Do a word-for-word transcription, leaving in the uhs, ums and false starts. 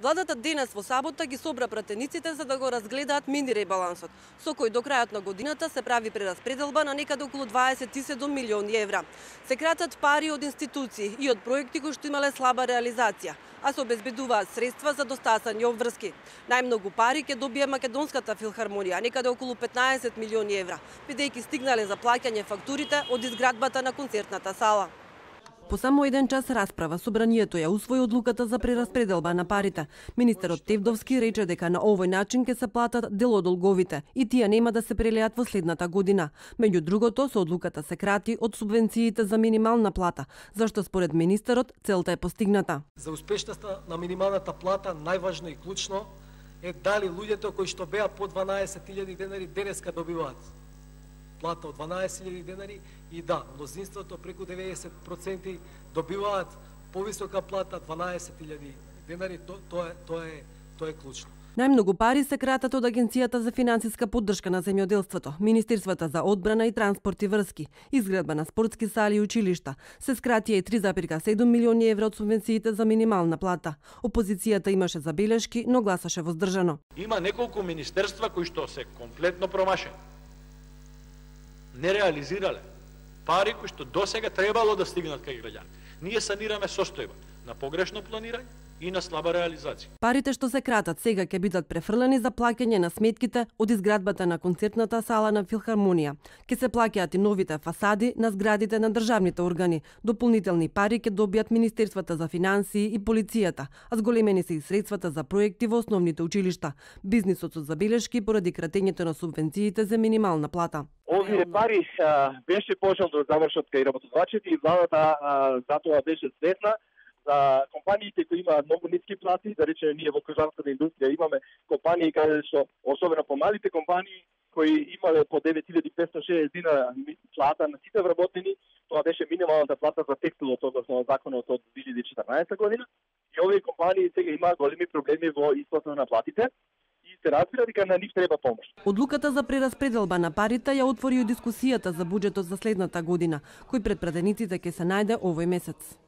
Владата денес во сабота ги собра пратениците за да го разгледаат мини ребалансот, со кој до крајот на годината се прави прераспределба на некаде околу дваесет и седум милиони евра. Се кратат пари од институции и од проекти кои што имале слаба реализација, а се обезбедуваат средства за достасани обврски. Најмногу пари ќе добие Македонската филхармонија, некаде околу петнаесет милиони евра, бидејќи стигнале за плаќање фактурите од изградбата на концертната сала. По само еден час расправа, собранието ја усвои одлуката за прераспределба на парите. Министерот Тевдовски рече дека на овој начин ќе се платат дел од долговите и тие нема да се прелеат во следната година. Меѓу другото, со одлуката се крати од субвенциите за минимална плата, зашто според министерот целта е постигната. За успешноста на минималната плата најважно и клучно е дали луѓето кои што беа по дванаесет илјади денари денеска добиваат плата од дванаесет илјади денари и да, мнозинството преку деветдесет проценти добиваат повисока плата дванаесет илјади денари, то, тоа е тоа е тоа е клучно. Најмногу пари се кратат од Агенцијата за финансиска поддршка на земјоделството, Министерствата за одбрана и транспорт и врски, изградба на спортски сали и училишта. Се скратија и три зарез и седум милиони евра од субвенциите за минимална плата. Опозицијата имаше забелешки, но гласаше воздржано. Има неколку министерства кои што се комплетно промашени. Не реализирале пари кои што досега требало да стигнат кај граѓани. Ние санираме состојба на погрешно планирање и на слаба реализација. Парите што се кратат сега ќе бидат префрлени за плаќање на сметките од изградбата на концертната сала на Филхармонија. Ке се плаќаат и новите фасади на зградите на државните органи. Дополнителни пари ќе добијат Министерствата за финансии и полицијата, а зголемени се и средствата за проекти во основните училишта. Бизнисот со забелешки поради кратењето на субвенциите за минимална плата. Овие пари а, беше пожел да завршат кај работодавачите и владата затоа беше светна за компаниите кои имаат многу ниски плати, да речеме ние во кожарската индустрија имаме компании каде што особено по малите компании кои имале по девет илјади петстотини и шеесет динара плата на сите вработени, тоа беше минималната плата за текстилот односно законот од две илјади и четрнаесетта година. И овие компании сега имаат големи проблеми во исплата на платите. Се разбира дека на нив треба помош. Одлуката за прераспределба на парите ја отвори и дискусијата за буџетот за следната година, кој пред пратениците ќе се најде овој месец.